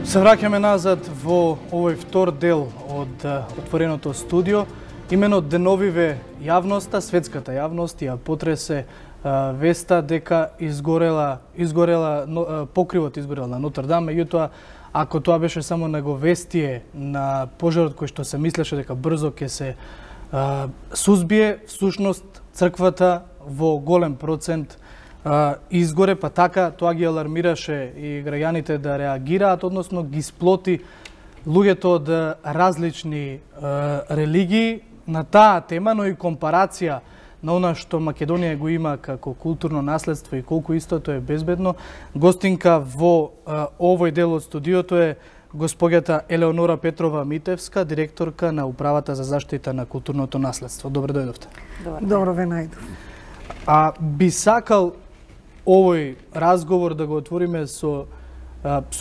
Се враќаме назад во овој втор дел од отвореното студио. Имено деновиве јавноста, светската јавност ја потресе веста дека покривот изгорел на Нотр-Дам, меѓутоа ако тоа беше само наговестие на пожарот кој што се мислеше дека брзо ќе се сузбие, всушност црквата во голем процент изгоре, па така тоа ги алармираше и граѓаните да реагираат, односно ги сплоти луѓето од различни религии на таа тема, но и компарација на она што Македонија го има како културно наследство и колку исто тоа е безбедно. Гостинка во овој дел од студиото е господјата Елеонора Петрова Митевска, директорка на Управата за заштита на културното наследство. Добро дојдовте. Добро ве најдов. Би сакал овој разговор да го отвориме со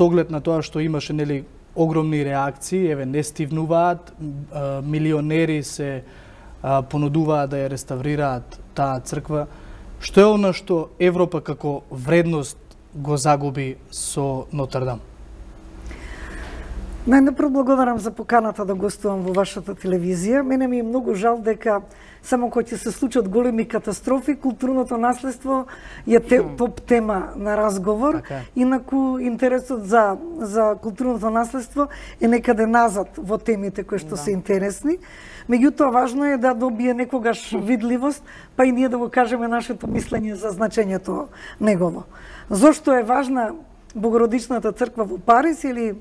оглед на тоа што имаше нели огромни реакции, еве не стивнуваат, милионери се понудуваат да ја реставрираат таа црква. Што е она што Европа како вредност го загуби со Нотр-Дам? Најнапред благодарам за поканата да гостувам во вашата телевизија. Мене ми е многу жал дека само кога ќе се случат големи катастрофи, културното наследство е топ тема на разговор. Инаку интересот за културното наследство е некаде назад во темите кои што се интересни. Меѓутоа важно е да добие некогаш видливост, па и ние да го кажеме нашето мислење за значењето негово. Зошто е важна Богородичната црква во Париз или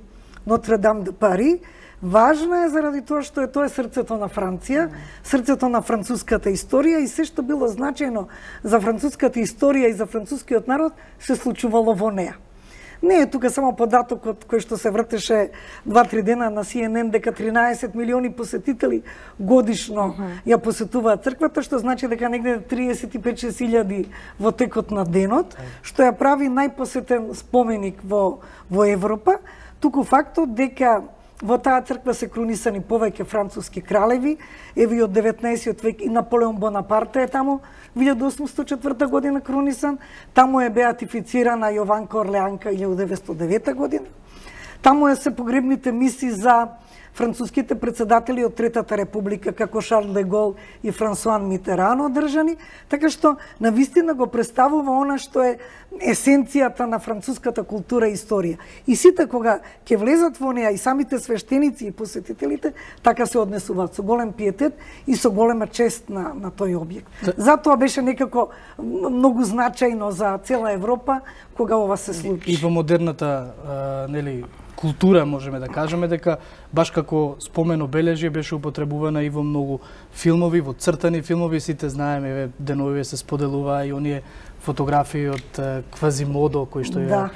Нотр-Дам де Пари? Важна е заради тоа што тоа е срцето на Франција, срцето на француската историја и се што било значајно за француската историја и за францускиот народ се случувало во неа. Не е тука само податокот кој што се вртеше 2-3 дена на CNN дека 13 милиони посетители годишно ја посетуваат црквата, што значи дека негде 35.000 во текот на денот, што ја прави најпосетен споменик во Европа. Туку фактот дека во таа црква се крунисани повеќе француски кралеви, еве од 19 век и Наполеон Бонапарте е таму, 1804 година крунисан, таму е беатифицирана Јованка Орлеанка 1909 година. Таму се погребните мисии за француските председатели од Третата република, како Шарл де Гол и Франсуан Митеран одржани, така што навистина го представува она што е есенцијата на француската култура и историја. И сите кога ќе влезат во неа и самите свештеници и посетителите, така се однесуваат со голем пиетет и со голема чест на тој објект. Затоа беше некако многу значајно за цела Европа кога ова се случи. И во модерната култура можеме да кажеме дека баш како спомен обележје беше употребувана и во многу филмови, во цртани филмови, сите знаеме, еве деновиве се споделуваа и оние фотографии од Квазимодо кои што ја...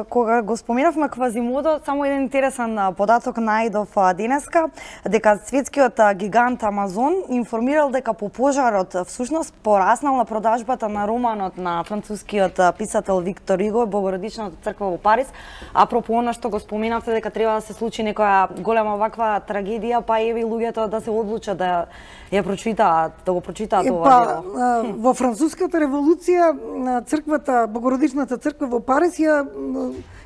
Кога го споменавме Квазимодо, само еден интересен податок најдов денеска, дека светскиот гигант Амазон информирал дека по пожарот всушност пораснала продажбата на романот на францускиот писател Виктор Иго, Богородичната црква во Париз. Апропо она што го споменавте дека треба да се случи некоја голема ваква трагедија, па еве луѓето да се одлучат да ја прочитаат, да го прочитаат ова дело. Во француската револуција црквата, Богородичната црква во Париз ја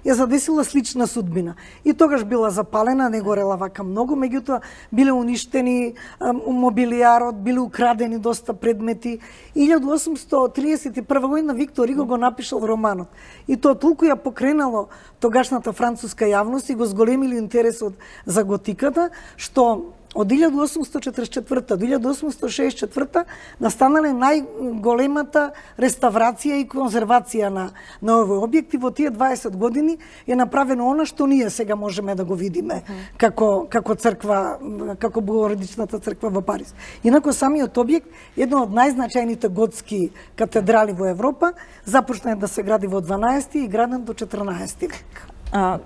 задесила слична судбина. И тогаш била запалена, не горела вака многу, меѓутоа биле уништени мобилијарот, биле украдени доста предмети. 1831 година Виктор Иго го напишал романот. И тоа толку ја покренало тогашната француска јавност и го зголемили интересот за готиката, што од 1844 до 1864 настанале најголемата реставрација и конзервација на овој објект и во тие 20 години е направено она што ние сега можеме да го видиме како црква, како Богородичната црква во Париз. Инаку самиот објект е една од најзначајните готски катедрали во Европа, започна да се гради во 12 и граден до 14 век.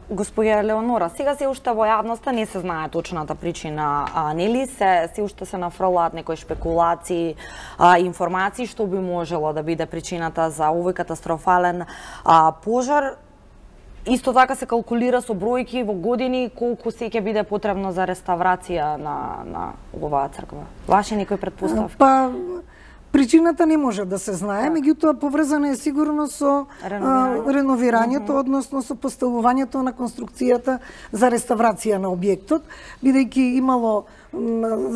Господја Елеонора, сега се уште во јавноста не се знае точната причина, нели се уште се нафрлаат некои шпекулации, информации што би можело да биде причината за овој катастрофален пожар. Исто така се калкулира со бројки во години колку се ќе биде потребно за реставрација на оваа црква. Ваши некои претпоставки? Причината не може да се знае, меѓутоа поврзана е сигурно со реновирањето, односно со поставувањето на конструкцијата за реставрација на објектот, бидејќи имало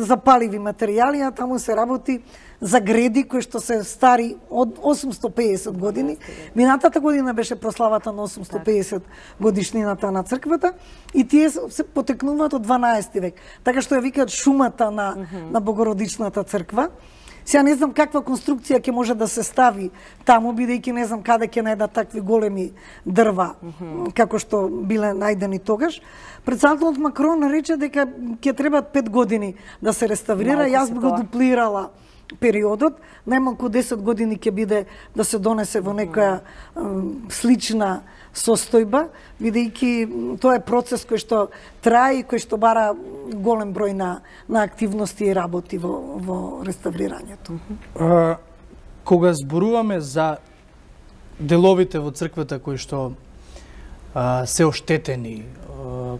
запаливи материјали, а таму се работи за греди кои што се стари од 850 години. Минатата година беше прославата на 850 годишнината на црквата и тие се потекнуваат од 12 век. Така што ја викаат шумата на Богородичната црква. Сега не знам каква конструкција ќе може да се стави таму, бидејќи не знам каде ќе најдат такви големи дрва, како што биле најдени тогаш. Председателот Макрон рече дека ќе требаат 5 години да се реставрира. Јас би го дуплирала периодот, најмалку 10 години ќе биде да се донесе во некоја слична состојба, бидејќи тоа е процес кој што трае и кој што бара голем број на активности и работи во реставрирањето. Кога зборуваме за деловите во црквата кои што се оштетени,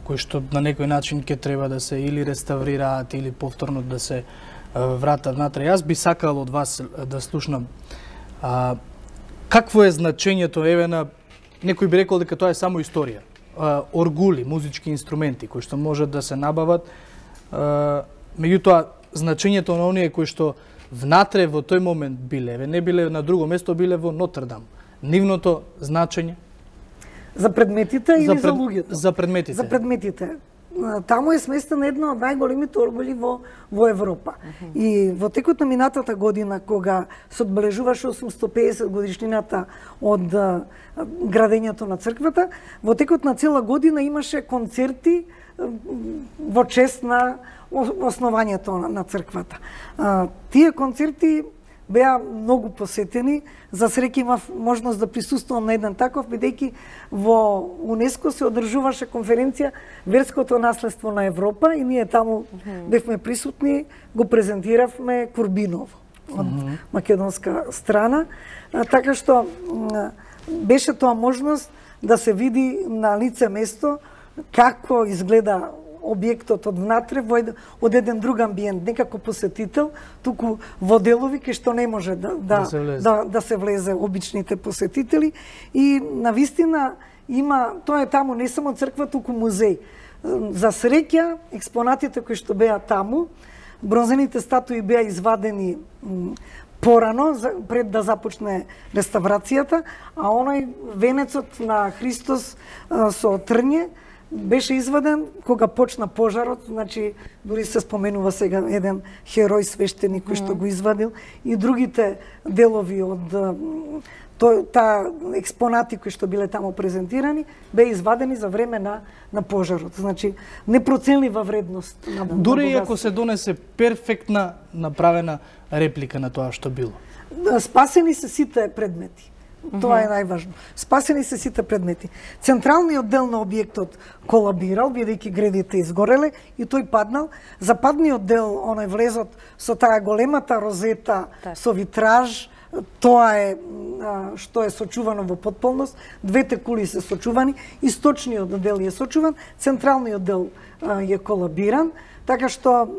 кои што на некој начин ќе треба да се или реставрираат или повторно да се вратат внатре. Јас би сакал од вас да слушнам какво е значењето, еве, на некој би рекол дека тоа е само историја. Оргули, музички инструменти кои што можат да се набават, меѓутоа значењето на оние кои што внатре во тој момент биле, не биле на друго место, биле во Нотр-Дам. Нивното значење за предметите или за луѓето? За предметите. За предметите. Таму е сместена една од најголемите оргули во Европа. И во текот на минатата година, кога се одбележуваше 850 годишнината од градењето на црквата, во текот на цела година имаше концерти во чест на основањето на црквата. Тие концерти беа многу посетени. За среќа имав можност да присуствувам на еден таков, бидејќи во УНЕСКО се одржуваше конференција Верското наследство на Европа и ние таму бевме присутни, го презентиравме Курбиново од македонска страна, така што беше тоа можност да се види на лице место како изгледа објектот од внатре од еден друг амбиент, не како посетител, туку во делови кај што не може да се влезе обичните посетители. И навистина има, тоа е таму не само црква, туку музеј. За среќа, експонатите кои што беа таму, бронзените статуи беа извадени порано, пред да започне реставрацијата, а оној венецот на Христос со трње беше изваден кога почна пожарот, значи дури се споменува сега еден херој свештеник кој што го извадил и другите делови од таа експонати кои што биле таму презентирани беа извадени за време на пожарот. Значи непроценлива вредност на дури и ако се донесе перфектна направена реплика на тоа што било. Спасени се сите предмети. Тоа е најважно. Спасени се сите предмети. Централниот дел на објектот колабирал, бидејќи гредите изгореле и тој паднал. Западниот дел, оној влезот со таа големата розета со витраж, тоа е што е сочувано во потполност. Двете кули се сочувани, источниот дел е сочуван, централниот дел е колабиран, така што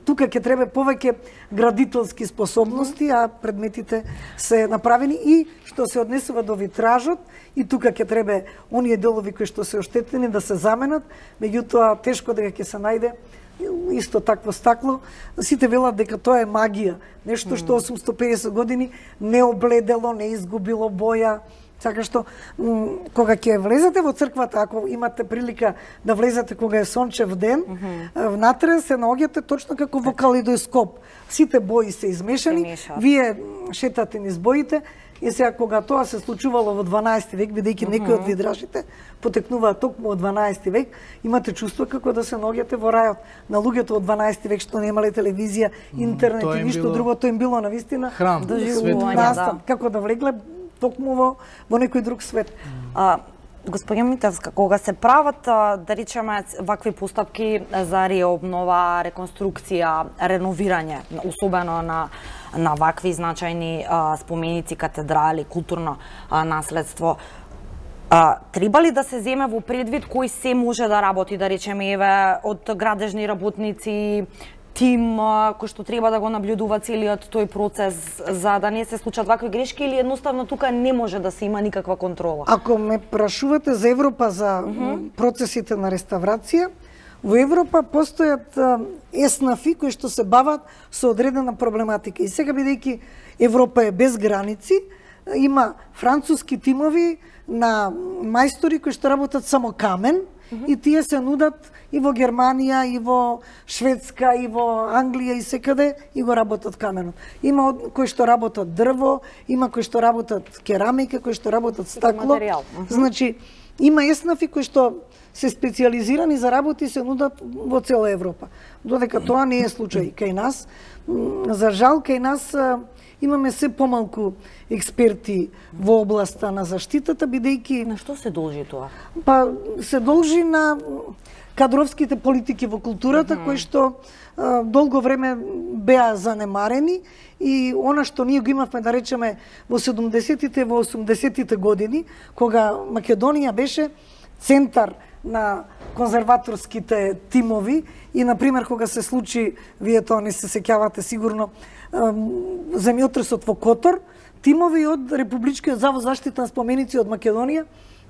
тука ќе треба повеќе градителски способности, а предметите се направени и што се однесува до витражот и тука ќе треба оние делови кои што се оштетени да се заменат, меѓутоа тешко дека ќе се најде исто такво стакло. Сите велат дека тоа е магија, нешто што 850 години не обледело, не изгубило боја. Така што, кога ќе влезете во црквата, ако имате прилика да влезете кога е сончев ден, внатре се наоѓате точно како во калейдоскоп. Сите бои се измешани, вие шетате низ боите, и сега кога тоа се случувало во 12 век, бидејќи некои од видражите потекнуваат токму од 12 век, имате чувство како да се наоѓате во рајот. На луѓето од 12 век што немале телевизија, интернет и ништо друго, тоа им било навистина храм, настан, како да влегле токму во некој друг свет. Госпоѓа Митевска, кога се прават, да речеме, вакви постапки за реобнова, реконструкција, реновирање, особено на вакви значајни споменици, катедрали, културно наследство, треба ли да се земе во предвид кој се може да работи, да речеме, еве, од градежни работници, тим кој што треба да го наблюдува целиот тој процес за да не се случат вакви грешки или едноставно тука не може да се има никаква контрола? Ако ме прашувате за Европа, за процесите на реставрација, во Европа постојат еснафи кои што се бават со одредена проблематика. И сега, бидејќи Европа е без граници, има француски тимови на мајстори кои што работат само камен, и тие се нудат и во Германија, и во Шведска, и во Англија, и секаде, и го работат каменот. Има кои што работат дрво, има кои што работат керамика, кои што работат стакло. Значи, има еснафи кои што се специализирани за работи и се нудат во цела Европа. Додека тоа не е случај кај нас. За жал, кај нас имаме се помалку експерти во областа на заштитата, бидејќи... На што се должи тоа? Па, се должи на кадровските политики во културата, кои што долго време беа занемарени и она што ние го имавме, да речеме, во 70-тите, во 80-тите години, кога Македонија беше центар на конзерваторските тимови и, например, кога се случи, вие тоа не се сеќавате сигурно, земјотресот во Котор, тимови од Републичкиот завод за заштита на споменици од Македонија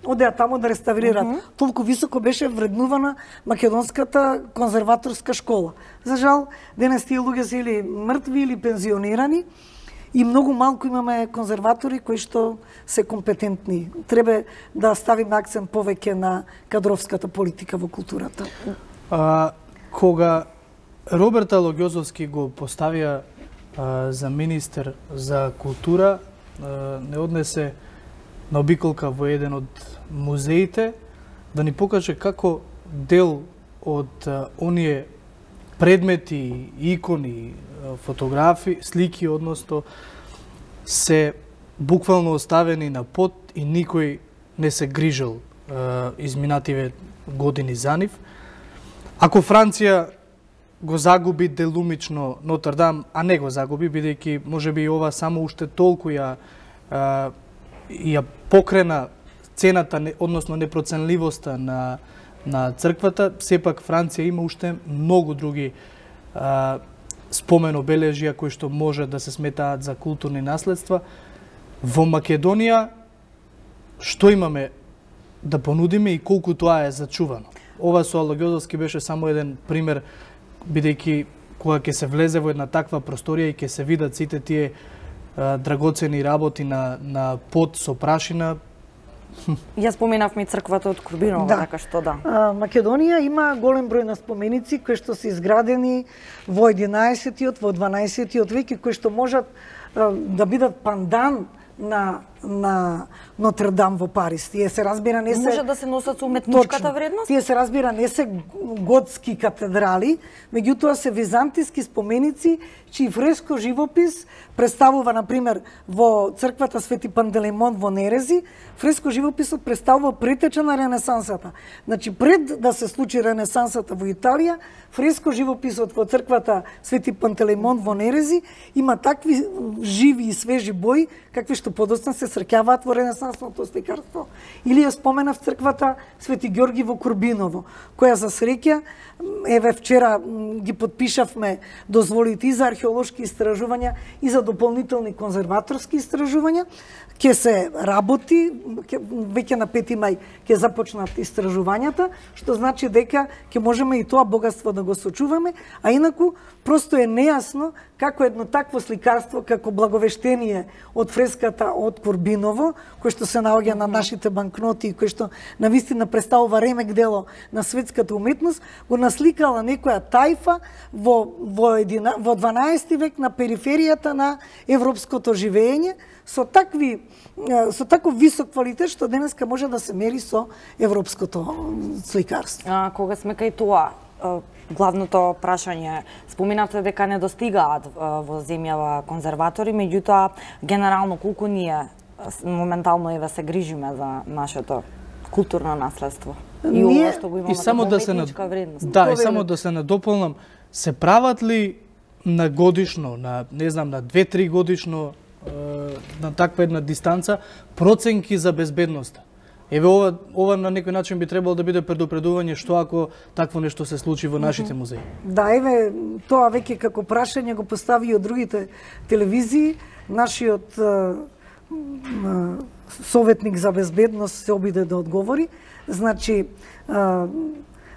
одеа таму да реставрираат. Толку високо беше вреднувана македонската конзерваторска школа. За жал, денес тие луѓе се или мртви или пензионирани и многу малку имаме конзерватори кои што се компетентни. Треба да ставиме акцент повеќе на кадровската политика во културата. Кога Роберт Алогјозовски го поставија за министер за култура, не однесе на обиколка во еден од музеите да ни покаже како дел од оние предмети, икони, фотографи, слики, односно, се буквално оставени на под и никој не се грижал изминативе години за нив. Ако Франција го загуби делумично Нотр-Дам, а не го загуби, бидејќи можеби ова само уште толку ја покрена цената, односно непроценливоста на црквата, сепак Франција има уште многу други спомен обележја кои што може да се сметаат за културни наследства. Во Македонија што имаме да понудиме и колку тоа е зачувано? Ова со Алогјозовски беше само еден пример, бидејќи кога ќе се влезе во една таква просторија и ќе се видат сите тие драгоцени работи на под со прашина. Ја споменавме и црквата од Курбиново, така што да. Македонија има голем број на споменици кои што се изградени во 11-тиот, во 12-тиот век и кои што можат да бидат пандан на Нотр-Дам во Париз. Тие се разбира не се може да се носат со уметничката вредност. Тие се разбира не се готски катедрали, меѓутоа се византиски споменици чиј фреско живопис представува, например, во црквата Свети Пантелеймон во Нерези, фреско живописот представува претеча на Ренесансата. Значи, пред да се случи Ренесансата во Италија, фреско живописот во црквата Свети Пантелеймон во Нерези има такви живи и свежи бои, какви што подоцна се среќаваат во ренесансното сликарство. Или ја споменав црквата Свети Ѓорги во Курбиново, која за среќа, еве вчера ги подпишавме дозволите и за археолошки истражувања и за дополнителни конзерваторски истражувања. Ќе се работи, веќе на 5 мај ќе започнат истражувањата, што значи дека ќе можеме и тоа богатство да го сочуваме, а инаку просто е нејасно како едно такво сликарство, како благовештение од фреската од Курбиново, кој што се наоѓа на нашите банкноти и кој што навистина представува ремек дело на светската уметност, го насликала некоја тајфа во 12 век на периферијата на европското живење, со таков висок квалитет што денеска може да се мери со европското сликарство. Кога сме кај тоа, главното прашање, споменавте дека не достигаат во земјава конзерватори, меѓутоа генерално колку ние моментално еве се грижиме за нашето културно наследство и ова што го имаме како уметничка вредност. Да, и само да се надополнам, се прават ли на годишно, на не знам, на 2-3 годишно на таква една дистанца проценки за безбедноста? Еве ова на некој начин би требало да биде предупредување што ако такво нешто се случи во нашите музеи. Да, еве, тоа веќе како прашање го постави од другите телевизии. Нашиот советник за безбедност се обиде да одговори. Значи,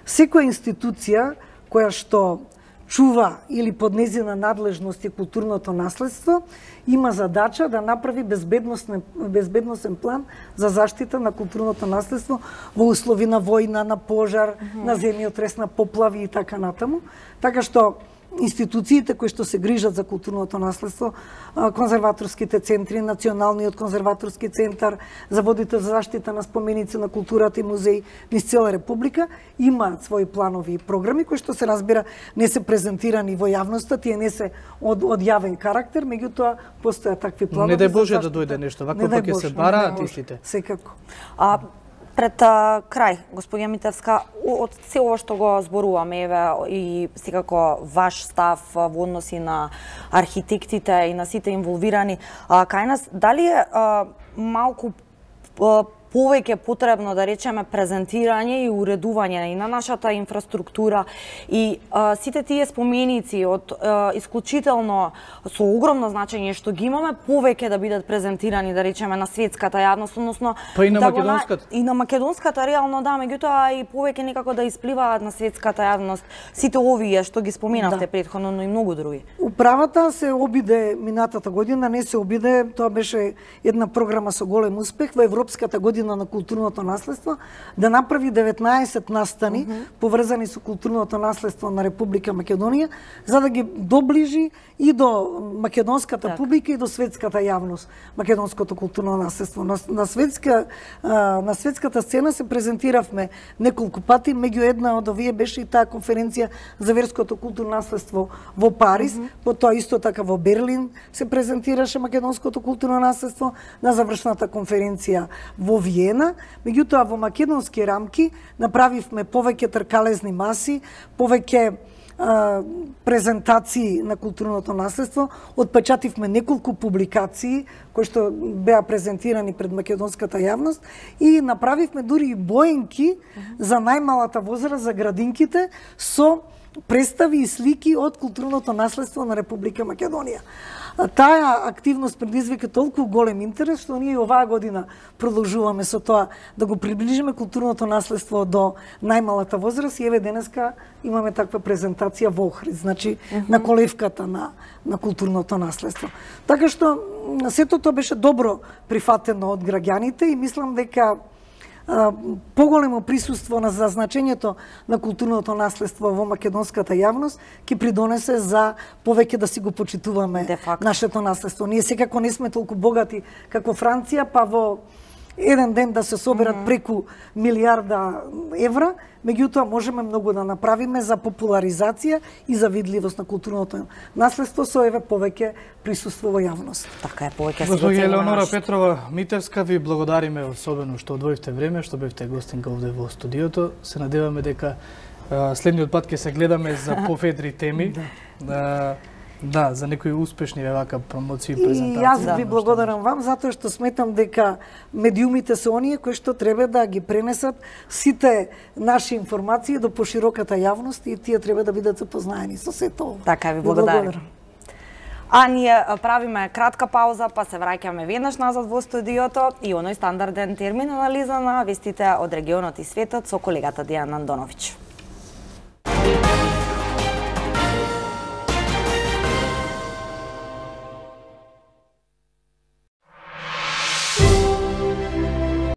секоја институција која што чува или под нејзина надлежност и културното наследство, има задача да направи безбедносен план за заштита на културното наследство во услови на војна, на пожар, на земјотрес, на поплави и така натаму. Така што институциите кои што се грижат за културното наследство, конзерваторските центри, Националниот конзерваторски центар, заводите за заштита на споменици на културата и музеи низ цела република, имаат своји планови и програми кои што се разбира не се презентирани во јавноста, тие не се од јавен карактер, меѓутоа постојат такви планови. Не дај Боже да дојде нешто, вака пак ќе се бараат истите. Секако. Пред крај, господја Митевска, од се ова што го зборуваме, еве, и секако ваш став во односи на архитектите и на сите инволвирани, кај нас, дали е малку повеќе потребно, да речеме, презентирање и уредување и на нашата инфраструктура и сите тие споменици од исклучително со огромно значење што ги имаме, повеќе да бидат презентирани, да речеме, на светската јавност, односно па и на македонската. И на македонската реално да, меѓутоа и повеќе некако да испливаат на светската јавност сите овие што ги споменавте претходно, но и многу други. Управата се обиде минатата година, не се обиде, тоа беше една програма со голем успех во Европската година на културното наследство, да направи 19 настани поврзани со културното наследство на Република Македонија, за да ги доближи и до македонската публика и до светската јавност, македонското културно наследство. На светската сцена се презентиравме неколку пати, меѓу една од овие беше и таа конференција за верското културно наследство во Париз, потоа исто така во Берлин се презентираше македонското културно наследство, на завршната конференција во Виена, меѓутоа во македонски рамки направивме повеќе тркалезни маси, повеќе презентации на културното наследство, отпечативме неколку публикации кои што беа презентирани пред македонската јавност и направивме дури и боенки за најмалата возраст, за градинките, со представи и слики од културното наследство на Република Македонија. Таа активност предизвика толку голем интерес што ние оваа година продолжуваме со тоа да го приближиме културното наследство до најмалата возраст и еве денеска имаме таква презентација во Охрид, значи на колевката на културното наследство. Така што сето тоа беше добро прифатено од граѓаните и мислам дека поголемо присуство за значењето на културното наследство во македонската јавност ќе придонесе за повеќе да си го почитуваме нашето наследство. Ние секако не сме толку богати како Франција, па во еден ден да се соберат преку милиарда евра, меѓутоа можеме многу да направиме за популаризација и за видливост на културното наследство со еве повеќе присуство во јавност. Така е, повеќе се Госпоѓа Елеонора Петрова Митевска, ви благодариме особено што одвоивте време, што бевте гостинка овде во студиото. Се надеваме дека следниот пат ќе се гледаме за поведри теми. Да, за некои успешни вака промоции и презентации. И јас ви благодарам вам затоа што сметам дека медиумите се оние кои што треба да ги пренесат сите наши информации до пошироката јавност и тие треба да бидат запознаени со сето ова. Така ви благодарам. А ние правиме кратка пауза, па се враќаме веднаш назад во студиото и оној стандарден термин анализа на вестите од регионот и светот со колегата Дијана Андоновиќ.